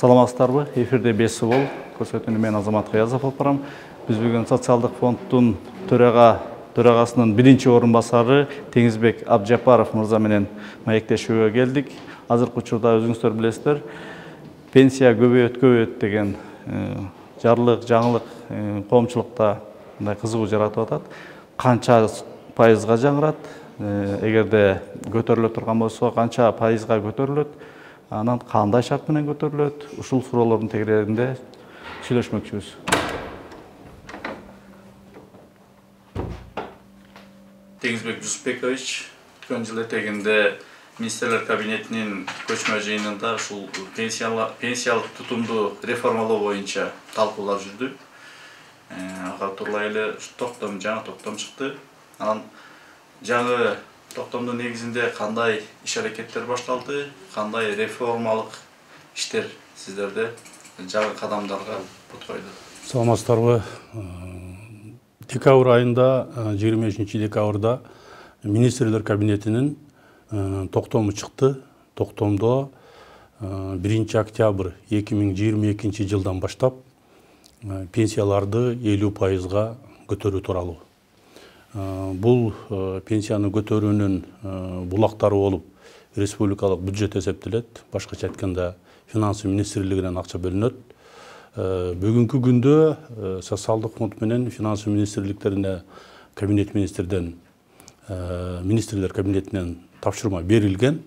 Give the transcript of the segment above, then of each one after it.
Саламатсыздарбы? Эфирде Бесубол көрсөтүүнү мен Азамат Кыязов алып барам. Биз бүгүн социалдык фонддун төрагасынын биринчи орун басары Теңизбек Абджапаров мырза менен маектешүүгө келдик. Азыркы учурда өзүңүздөр билесиздер, пенсия көбөйөт деген жаңылык коомчулукта мындай кызыгуу жаратып атат. Канча пайызга жаңырат? Эгерде көтөрүлө турган болсо, канча пайызга көтөрүлөт? Анан кандай шарт менен көтөрүлөт? Ушул суроолордун тегерегинде сүйлөшмөкчүбүз. Теңизбек Жусупбекович, өткөн жыл этегинде министрлер кабинетинин көчмө жыйынында ушул пенсиялык тутумду реформалоо боюнча талкуулар жүрдү. Ага турлай эле жаңы токтом чыкты. Анан жаңы токтомдун негизинде кандай иш-аракеттер башталды, кандай реформалык иштер сиздерде жаңы кадамдарга пут койду? Саламатсыздарбы? Декабрь айында, 25 декабрда министрлер кабинетинин токтому чыкты. Токтомдо 1 октябрь 2022 жылдан баштап пенсияларды 50%га көтөрүү тууралуу. Бул пенсияны көтөрүүнүн булактары болуп республикалык бюджет эсептелет. Башкача айтканда финансы министрлигинен акча бөлүнөт. Бүгүнкү күндө социалдык фонд менен финансы министрликтерине кабинет министрден министрлер кабинетинен тапшырма берилген.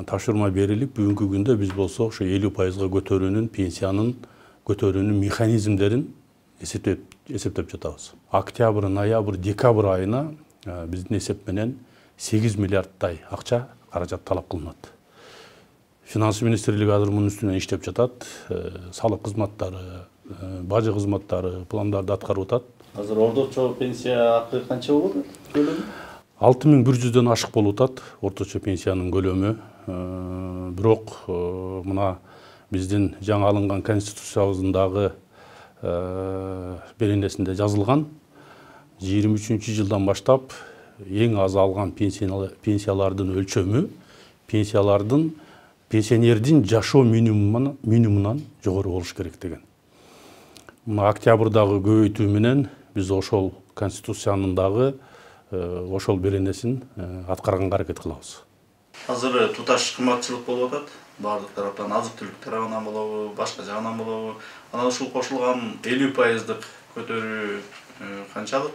Тапшырма берилип, бүгүнкү күндө биз болсо ошо 50%га көтөрүүнүн, пенсиянын көтөрүүнүн механизмдерин эсептеп жатабыз. Октябрь, ноябрь, декабрь айына биздин эсеп менен 8 миллиардтай акча каражат талап кылынат. Финансы министрлиги азыр мунун үстүнөн иштеп жатат. Салык кызматтары, бажы кызматтары пландарды аткарып атат. Азыр орточо пенсия акы канча болот? 6100дөн ашык болуп атат орточо пенсиянын көлөмү. Бирок мына биздин жаңы алынган конституциябыздагы беренесинде жазылган 23 жылдан баштап эң аз алган пенсиялардын өлчөмү пенсионердин жашоо минимумунан жогору болуш керек деген. Мына октябрдагы көбөйтүү менен биз ошол конституциянын дагы ошол беренесин аткарганга аракет кылабыз. Азыр туташ кымбатчылык болуп атат. Бардык тараптан азык-түлүк тарабынан болобу, башка жагынан болобу. Анан ушул кошулган 50%дык көтөрүү канчалык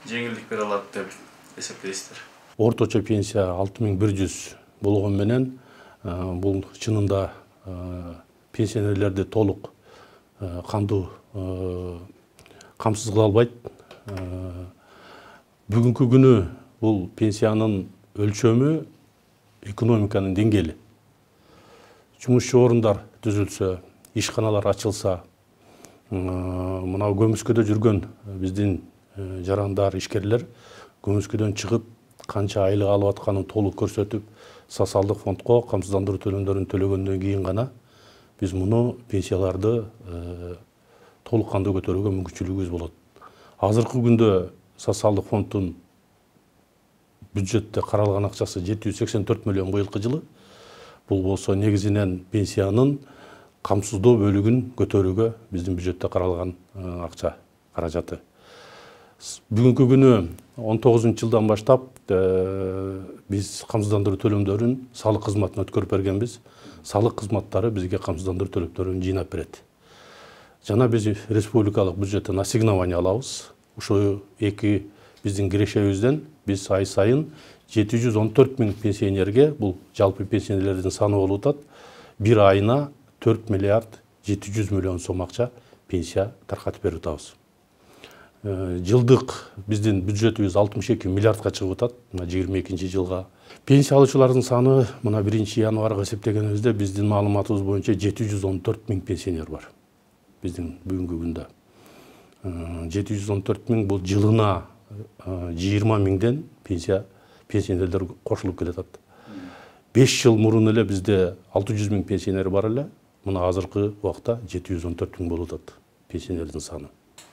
жеңилдик бере алат деп эсептейсиздер? Орточо пенсия 6100 болгон менен бул чынында пенсионерлерди толук кандуу камсыз кыла албайт. Бүгүнкү күнү бул пенсиянын өлчөмү экономиканын деңгээли. Жумушчу орундар түзүлсө, ишканалар ачылса, мына көмүскөдө жүргөн биздин жарандар, ишкерлер көмүскөдөн чыгып, канча айлык алып атканын толук көрсөтүп, социалдык фондко камсыздандыруу төлөмдөрүн төлөгөндөн кийин гана биз муну пенсияларды толук кандуу көтөрүүгө мүмкүнчүлүгүбүз болот. Азыркы күндө социалдык фонддун бюджетте каралган акчасы 784 миллион быйылкы жылы. Бул болсо негизинен пенсиянын камсыздоо бөлүгүн көтөрүүгө биздин бюджетте каралган акча каражаты. Бүгүнкү күнү 19 жылдан баштап биз камсыздандыруу төлөмдөрүн салык кызматына өткөрүп бергенбиз. Салык кызматтары бизге камсыздандыруу төлөмдөрүн жыйнап берет. Жана биз республикалык бюджеттен ассигнование алабыз. Ошо эки биздин кирешебизден биз ай сайын 714 000 пенсионерге, бул жалпы пенсионерлердин саны болуп атат, бир айына 4 миллиард 700 миллион сом акча пенсия таркатып берип атабыз. Жылдык биздин бюджетибиз 62 миллиардка чыгып атат, мына 22 жылга. Пенсия алуучулардын саны мына 1 январга эсептегенибизде биздин маалыматыбыз боюнча 714 000 пенсионер бар. Биздин бүгүнкү күндө 714 000 бул жылына 20 000ден пенсионерлер кошулуп келатат. 5 жыл мурун эле бизде 600 000 пенсионер бар эле. Мына азыркы убакта 714 000 болуп атат пенсионердин саны.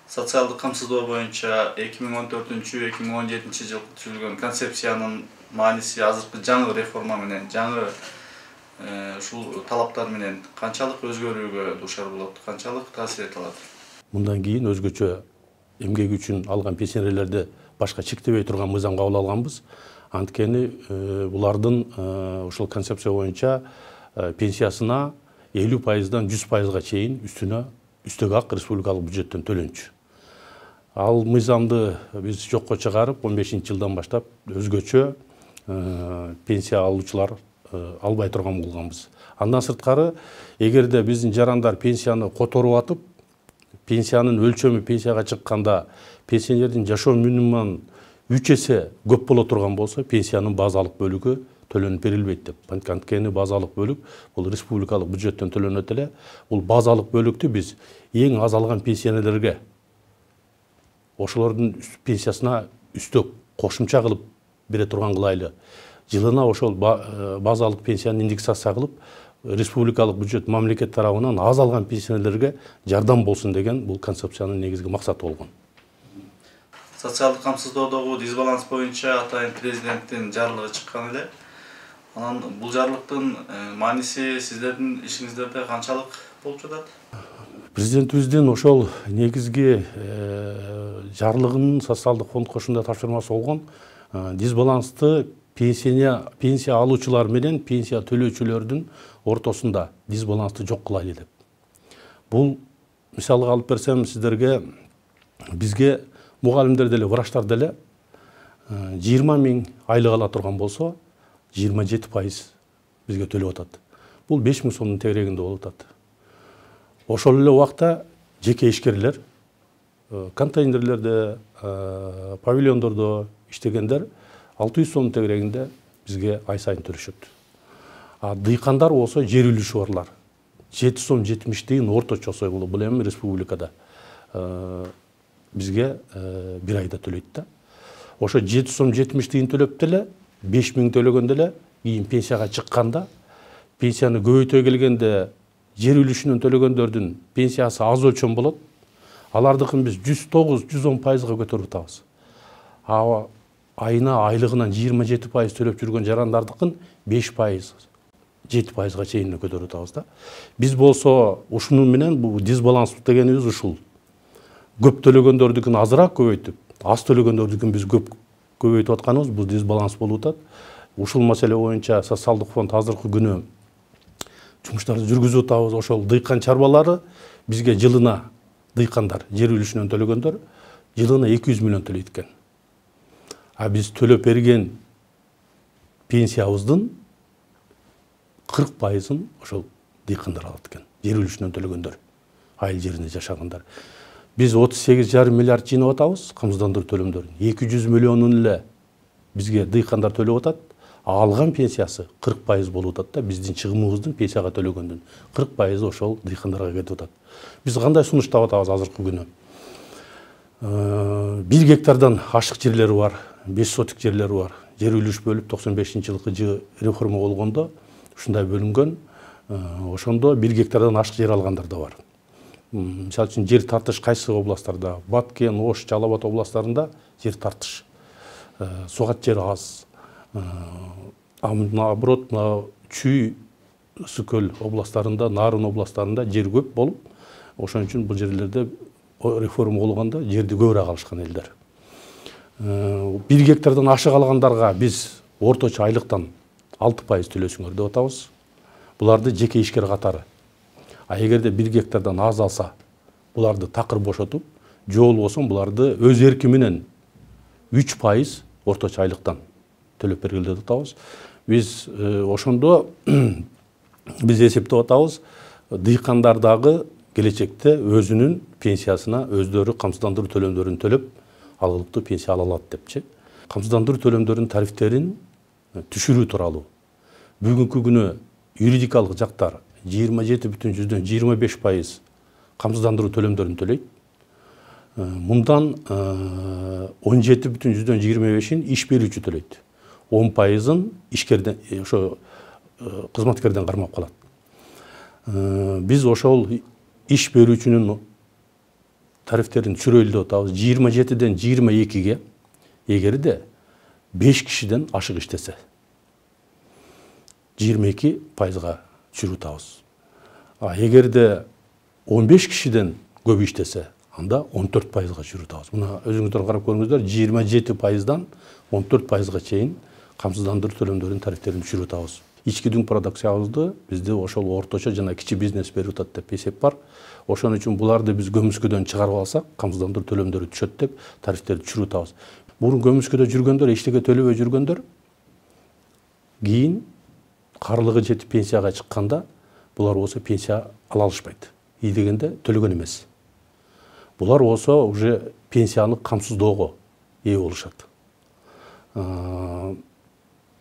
Социалдык камсыздоо боюнча 2014-2017 жылы түзүлгөн концепциянын мааниси азыркы жаңы реформа менен, жаңы ушул талаптар менен канчалык өзгөрүүгө дуушар болот, канчалык таасир эте алат? Мындан кийин өзгөчө эмгек үчүн алган пенсионерлерди башка чектебей турган мыйзам кабыл алганбыз. Анткени булардын ушул концепция боюнча пенсиясына 50%дан 100%га чейин үстөгө ак республикалык бюджеттен төлөнчү. Ал мыйзамды биз жокко чыгарып, 15-жылдан баштап өзгөчө пенсия алуучулар албай турган болгонбуз. Андан сырткары, эгерде биздин жарандар пенсияны которуп атып, пенсиянын өлчөмү пенсияга чыкканда пенсионердин жашоо минимумунан 3 эсе көп боло турган болсо, пенсиянын базалык бөлүгү төлөнүп берилбейт деп. Анткени базалык бөлүк бул республикалык бюджеттен төлөнөт эле. Бул базалык бөлүктү биз эң аз алган пенсионерлерге ошолордун пенсиясына үстөк кошумча кылып бере турган кылайлы. Жылына ошол базалык пенсияны индексация кылып, республикалык бюджет мамлекет тарабынан аз алган пенсионерлерге жардам болсун деген бул концепциянын негизги максаты болгон. Социалдык камсыздоодогу дисбаланс боюнча атайын президенттин жарлыгы чыккан эле. Анан бул жарлыктын мааниси сиздердин ишиңиздерде канчалык болуп жатат? Президентибиздин ошол негизги жарлыгынын социалдык фонд кошумда тапшырмасы болгон дисбалансты пенсия алуучулар менен пенсия төлөөчүлөрдүн ортосунда дисбалансты жок кылайлы деп. Бул мисалга алып берсем сиздерге, бизге мугалимдер деле, врачтар деле 20 000 айлык ала турган болсо, 27% бизге төлөп атат. Бул 5 000 сомдун тегерегинде болуп атат. Ошол эле убакта жеке ишкерлер контейнерлерде, павильондордо иштегендер 600 сомдун тегерегинде бизге ай сайын төлөшөт. Дыйкандар болсо жер үлүшү барлар 7 сом 70 тыйын орточосу бул эми республикада бизге бир айда төлөйт да. Ошо 7 сом 70 тыйын төлөп деле 5 000 төлөгөндө эле кийин пенсияга чыкканда, пенсияны көбөйтө келгенде жер үлүшүнөн төлөгөндөрдүн пенсиясы аз өлчөм болот. Алардыкын биз 109-110%га көтөрүп атабыз. Айына айлыгынан 27% төлөп жүргөн жарандардыкын 5%, 7%га чейин көтөрүп атабыз да. Биз болсо ушунун менен бул дисбаланс дегенибиз ушул. Көп төлөгөндөрдүкүн азыраак көбөйтүп, аз төлөгөндөрдүкүн биз көп көбөйтүп атканыбыз бул дисбаланс болуп атат. Ушул маселе боюнча социалдык фонд азыркы күнү жумуштарды жүргүзүп атабыз. Ошол дыйкан чарбалары бизге жылына, дыйкандар жер үлүшүнөн төлөгөндөр жылына 200 миллион төлөйт экен. Биз төлөп берген пенсиябыздын 40%-ын ошол дыйкандар алат экен. Жер үлүшүнөн төлөгөндөр, айыл жеринде жашагандар. Биз 38,5 миллиард жыйнап атабыз камсыздандыруу төлөмдөрүн. 200 миллионун эле бизге дыйкандар төлөп атат. Алган пенсиясы 40% болуп атат да, биздин чыгымыбыздын пенсияга төлөгөндүн 40% ошол дыйкандарга кетип атат. Биз кандай сунуш таап атабыз азыркы күнү? 1 гектардан ашык жерлери бар, 5 сотик жерлери бар. Жер үлүш бөлүп 95-жылкы реформа болгондо ушундай бөлүнгөн. Ошондо 1 гектардан ашык жер алгандар да бар. Мисалы үчүн жер тартыш кайсы областтарда, Баткен, Ош, Жалал Абад областарында жер тартыш. Сугат жер аз. Наоборот, Чүй, Ысыкөл областарында, Нарын областарында жер көп болуп, ошон үчүн бул жерлерде реформа болгондо жерди көбүрөөк алышкан элдер. 1 гектардан ашык алгандарга биз орточо айлыктан 6% төлөсүңөр деп атабыз. Буларды жеке ишкер катары. Эгерде 1 гектардан аз алса, буларды такыр бошотуп, же болбосо буларды өз эрки менен 3% орточо айлыктан төлөп бергиле деп атабыз. Биз ошондо биз эсептеп атабыз, дыйкандар дагы келечекте өзүнүн пенсиясына өздөрү камсыздандыруу төлөмдөрүн төлөп, алгылыктуу пенсия ала алат депчи. Камсыздандыруу төлөмдөрүнүн тарифтерин түшүрүү тууралуу бүгүнкү күнү юридикалык жактар 27,25% камсыздандыруу төлөмдөрүн төлөйт. Мындан 17,25%ин иш берүүчү төлөйт. 10%-ын ишкерден, ошо кызматкерден кармап калат. Биз ошол иш берүүчүнүн тарифтерин түшүрөлү деп атабыз. 27-ден 22-ге, эгерде 5 кишиден ашык иштесе. 22%-га түшүрүп атабыз. Эгерде 15 кишиден көп иштесе, анда 14%-га түшүрүп атабыз. Мына өзүңүздөр карап көрүңүздөр, 27%-дан 14%-га чейин камсыздандыруу төлөмдөрүнүн тарифтерин түшүрүп атабыз. Ички дүң продукциябызды бизде ошол орточо жана кичи бизнес берип атат деп эсеп бар. Ошон үчүн буларды биз көмүскөдөн чыгарып алсак, камсыздандыруу төлөмдөрү түшөт деп тарифтерди түшүрүп атабыз. Мурун көмүскөдө жүргөндөр, эчтеке төлөбөй жүргөндөр кийин карлыгы жетип пенсияга чыкканда булар болсо пенсия ала алышпайт. И дегенде төлөгөн эмес. Булар болсо уже пенсияны камсыздоого ээ болушат.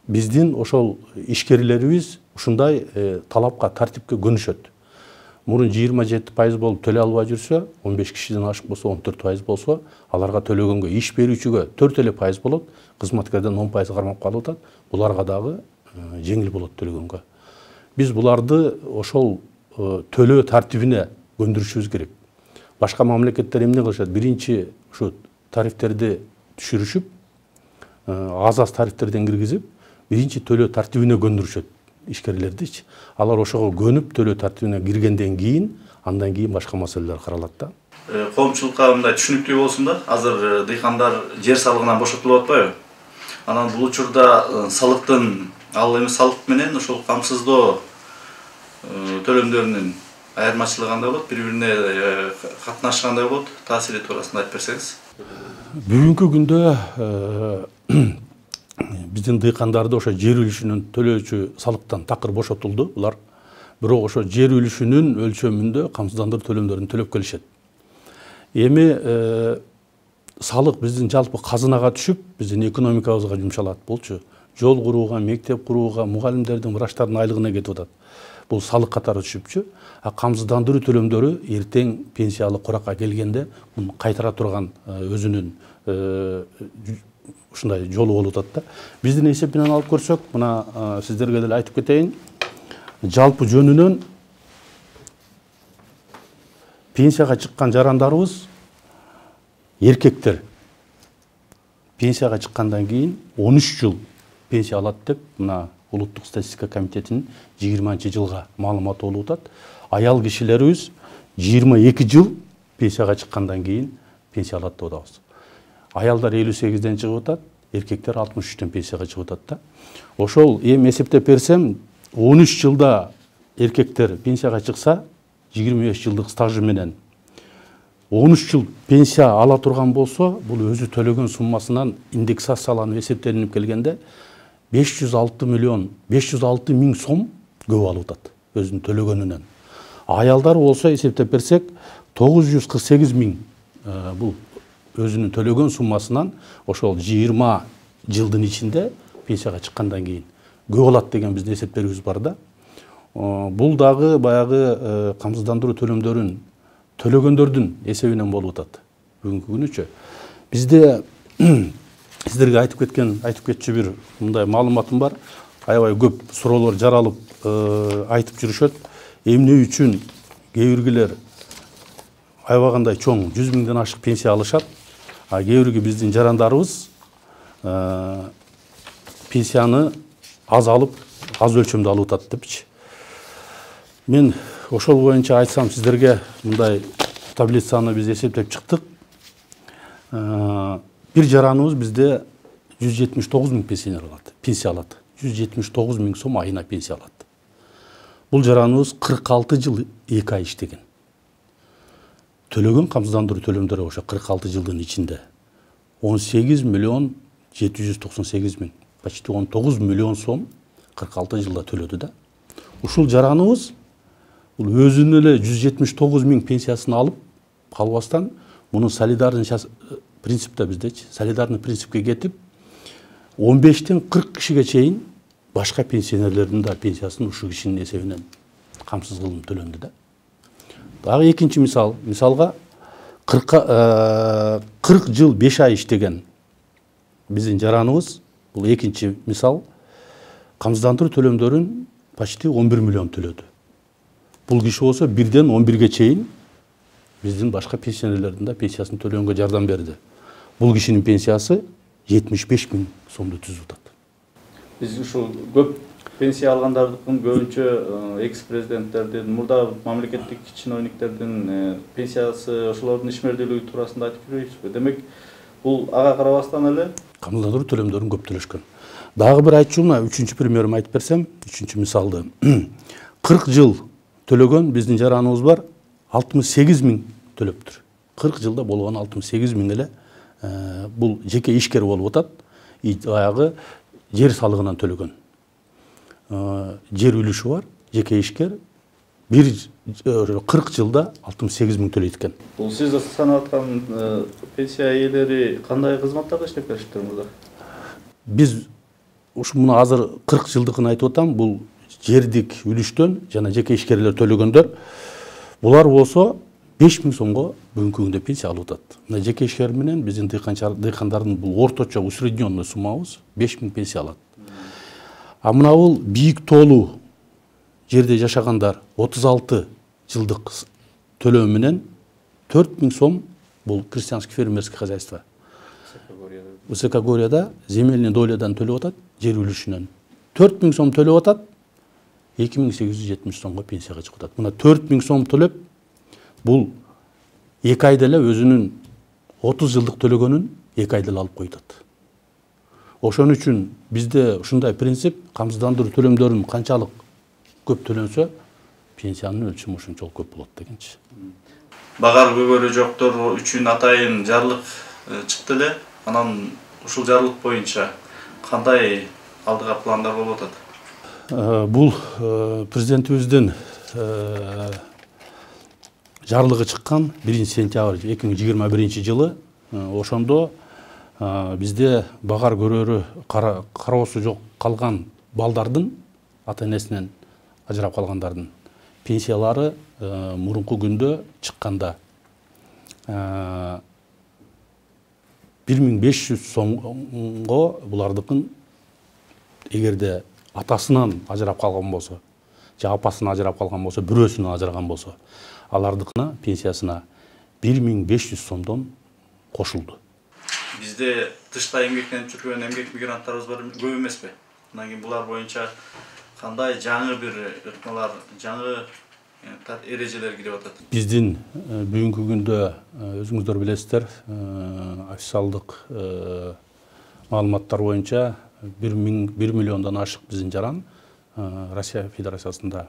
Биздин ошол ишкерлерибиз ушундай талапка, тартипке көнүшөт. Мурун 27% болуп төлөй албай жүрсө, 15 кишиден ашык болсо, 14% болсо, аларга төлөгөнгө иш берүүчүгө 4% болот, кызматкерден 10% кармап калып атат. Буларга дагы жеңил болот төлөгөнгө. Биз буларды ошол төлөө тартибине көндүрүшүбүз керек. Башка мамлекеттер эмне кылышат? Биринчи ушу тарифтерди түшүрүшүп, аз тарифтерден киргизип, биринчи төлөө тартибине көндүрүшөт ишкерлердичи. Алар ошого көнүп төлөө тартибине киргенден кийин, андан кийин башка маселелер каралат да. Коомчулукка мындай түшүнүктүү болсун да. Азыр дыйкандар жер салыгынан бошотулуп атпайбы? Анан бул учурда салыктын, ал эми салык менен ошол камсыздоо төлөмдөрүнүн айырмачылыгы кандай болот? Бири-бирине катнашы кандай болот? Таасири туурасында айтып берсеңиз. Бүгүнкү күндө биздин дыйкандарды ошо жер үлүшүнүн төлөөчү салыктан такыр бошотулду булар. Бирок ошо жер үлүшүнүн өлчөмүндө камсыздандыруу төлөмдөрүн төлөп келишет. Эми салык биздин жалпы казынага түшүп, биздин экономикабызга жумшалат болчу. Жол курууга, мектеп курууга, мугалимдердин, врачтардын айлыгына кетип атат. Бул салык катары түшүпчү. Камсыздандыруу төлөмдөрү эртең пенсиялык куракка келгенде муну кайтара турган өзүнүн ушундай жолу болуп атат да. Биздин эсеп менен алып көрсөк, мына сиздерге деле айтып кетейин. Жалпы жөнүнөн пенсияга чыккан жарандарыбыз эркектер пенсияга чыккандан кийин 13 жыл пенсия алат деп мына Улуттук статистика комитетинин 20-жылга маалыматы болуп атат. Аял кишилерибиз 22 жыл пенсияга чыккандан кийин пенсия алат деп атабыз. Аялдар 58-ден чыгып атат, эркектер 63-тен пенсияга чыгып атат да. Ошол эми эсептеп берсем, 13 жылда эркектер пенсияга чыкса, 25 жылдык стажы менен 13 жыл пенсия ала турган болсо, бул өзү төлөгөн суммасынан индексацияланып эсептелинип келгенде 506 миң сом көп алып атат өзүнүн төлөгөнүнөн. Аялдар болсо эсептеп берсек 948 миң бул өзүнүн төлөгөн суммасынан ошол 20 жылдын ичинде пенсияга чыккандан кийин көп алат деген биздин эсептерибиз бар да. Бул дагы баягы камсыздандыруу төлөмдөрүн төлөгөндөрдүн эсебинен болуп атат бүгүнкү күнүчө. Бизде сиздерге айтып кетчү бир мындай маалыматым бар. Аябай көп суроолор жаралып айтып жүрүшөт. Эмне үчүн кээ биргилер аябагандай чоң 100 миңден ашык пенсия алышат, а кээ бирги биздин жарандарыбыз пенсияны аз алып, аз өлчөмдө алып атат депчи. Мен ошол боюнча айтсам сиздерге мындай таблицаны биз эсептеп чыктык. Бир жараныбыз bizde 179 миң пенсия алат. 179 миң сом айына пенсия алат. Бул жараныбыз 46 жыл 2 ай иштеген. Төлөгөн камсыздандыруу төлөмдөрү ошо 46 жылдын ичинде 18 миллион 798 миң, почти 19 миллион сом 46 жылда төлөдү да. Ушул жараныбыз бул өзүнүн эле 179 миң пенсиясын алып калбастан, муну солидарный принципте биздечи, солидарный принципке кетип 15-тен 40 кишиге чейин башка пенсионерлердин да пенсиясын ушул кишинин эсебинен камсыз кылынып төлөндү да. Дагы экинчи мисалга 40 жыл 5 ай иштеген биздин жараныбыз, бул экинчи мисал, камсыздандыруу төлөмдөрүн почти 11 миллион төлөдү. Бул киши болсо 1-ден 11-ге чейин биздин башка пенсионерлердин да пенсиясын төлөгөнгө жардам берди. Бул кишинин пенсиясы 75 миң сомду түзүп атат. Биз ушул көп Пенсия алгандардын көбүнчө экс-президенттердин, мурда мамлекеттик чиновниктердин пенсиясы, ошолордун ишмердүүлүгү туурасында айтып жүрөйсүзбү? Демек, бул ага карабастан эле камсыздандыруу төлөмдөрүн көп төлөшкөн. Дагы бир айтчумуна үчүнчү примерим айтып берсем, үчүнчү мисалды. 40 жыл төлөгөн биздин жараныбыз бар, 68 миң төлөптүр. 40 жылда болгон 68 миң эле бул жеке ишкер болуп атат. Баягы жер салыгынан төлөгөн. Жер үлүшү бар, жеке ишкер 40 жылда 68 миң төлөйт экен. Бул сиз санап аткан пенсия ээлери кандай кызматтарда иштеп беришиптир мурда? Биз муну азыр 40 жылдыкын айтып атам, бул жердик үлүштөн жана жеке ишкерлер төлөгөндөр. Булар болсо 5 миң сомго бүгүнкү күндө пенсия алып атат. Мына жеке ишкер менен биздин дыйкандардын бул орточо усредненный суммабыз 5 миң пенсия алат. А мына бул бийик тоолуу жерде жашагандар 36 жылдык төлөө менен 4 миң сом бул крестьянский фермерский хозяйство. Высокогорьяда земельный долядан төлөп атат, жер үлүшүнөн. 4 миң сом төлөп атат, 2870 сомго пенсияга чыгып атат. Мына 4 миң сом төлөп, бул 2 айда эле өзүнүн 30 жылдык төлөгөнүн 2 айда эле алып коюп. Ошон үчүн бизде ушундай принцип, камсыздандыруу төлөмдөрүн канчалык көп төлөнсө, пенсиянын өлчөмү ошончолук көп болот дегенчи. Багар көбөрү жоктор үчүн атайын жарлык чыкты эле. Анан ушул жарлык боюнча кандай алдыга пландар болуп атат? Бул президентибиздин жарлыгы чыккан 1 сентябрь 2021 жылы. Ошондо бизде багар көрөрү кароосу жок калган балдардын, ата-энесинен ажырап калгандардын пенсиялары мурунку күндө чыкканда 1500 сомго булардыкын эгерде атасынан ажырап калган болсо, же апасынан ажырап калган болсо, бирөөсүнөн ажыраган болсо, алардыкына пенсиясына 1500 сомдон кошулду. Бизде тышта эмгектенип жүргөн эмгек мигранттарыбыз бар, көп эмеспи? Андан кийин булар боюнча кандай жаңы бир ыкмалар, жаңы эрежелер кирип атат? Биздин бүгүнкү күндө өзүңүздөр билесиздер, официалдык маалыматтар боюнча 1 миллиондон ашык биздин жаран Россия Федерациясында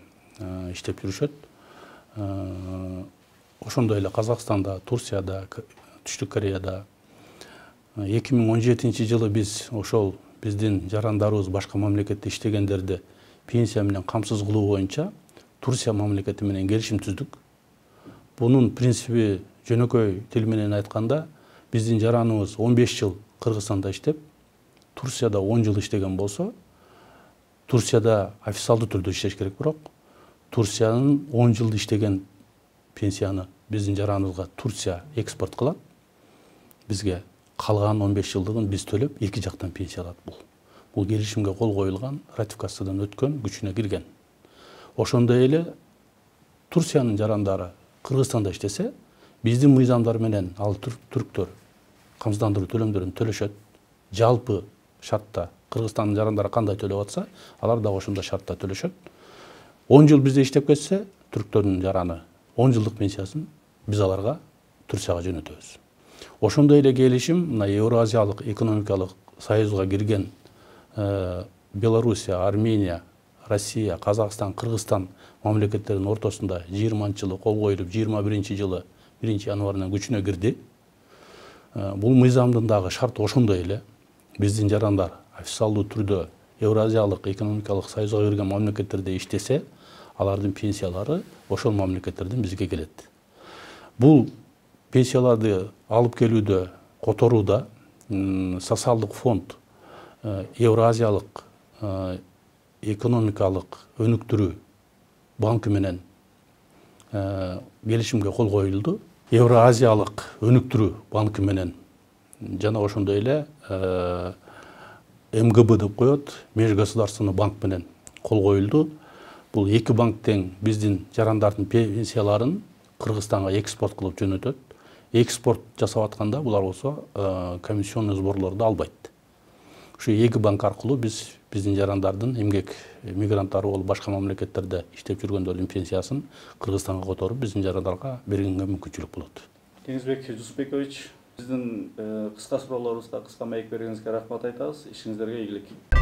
иштеп жүрүшөт. Ошондой эле Казакстанда, Турцияда, Түштүк Кореяда 2017 жылы биз ошол биздин жарандарыбыз башка мамлекетте иштегендерди пенсия менен камсыз кылуу боюнча Турция мамлекети менен келишим түздүк. Бунун принципи жөнөкөй тил менен айтканда, биздин жараныбыз 15 жыл Кыргызстанда иштеп, Турцияда 10 жыл иштеген болсо, Турцияда официалдуу түрдө иштеш керек, бирок Турциянын 10 жыл иштеген пенсияны биздин жараныбызга Турция экспорт кылат. Бизге калган 15 жылдыгын биз төлөп, эки жактан пенсия алат бул. Бул келишимге кол коюлган, ратификациядан өткөн, күчүнө кирген. Ошондой эле Турциянын жарандары Кыргызстанда иштесе, биздин мыйзамдар менен ал түрктөр камсыздандыруу төлөмдөрүн төлөшөт. Жалпы шартта Кыргызстандын жарандары кандай төлөп атса, алар да ошондой шартта төлөшөт. 10 жыл бизде иштеп кетсе, түрктөрдүн жараны 10 жылдык пенсиясын биз аларга Турцияга жөнөтөбүз. Ошондой эле келишим мына Евразиялык экономикалык союзга кирген Белоруссия, Армения, Россия, Казакстан, Кыргызстан мамлекеттеринин ортосунда 20-жылы кол коюлуп, 21 жылы 1 январынан күчүнө кирди. Бул мыйзамдын дагы шарты ошондой эле. Биздин жарандар официалдуу түрдө Евразиялык экономикалык союзга кирген мамлекеттерде иштесе, алардын пенсиялары ошол мамлекеттерден бизге келет. Бул пенсияларды алып келүүдө, которууда социалдык фонд Евразиялык экономикалык өнүктүрүү банкы менен келишимге кол коюлду. Евразиялык өнүктүрүү банкы менен жана ошондой эле МГБ деп коет, межгосударственный банк менен кол коюлду. Бул эки банктен биздин жарандардын пенсияларын Кыргызстанга экспорт кылып жөнөтөт. Экспорт жасап атканда булар болсо комиссионный сборлорду албайт. Ушу эки банк аркылуу биз биздин жарандардын эмгек мигранттары болуп башка мамлекеттерде иштеп жүргөндөрдүн пенсиясын Кыргызстанга которуп биздин жарандарга бергенге мүмкүнчүлүк болот. Теңизбек Жусупбекович, биздин кыска суроолорубузга кыска маек бергениңизге рахмат айтабыз. Ишиңиздерге ийгилик.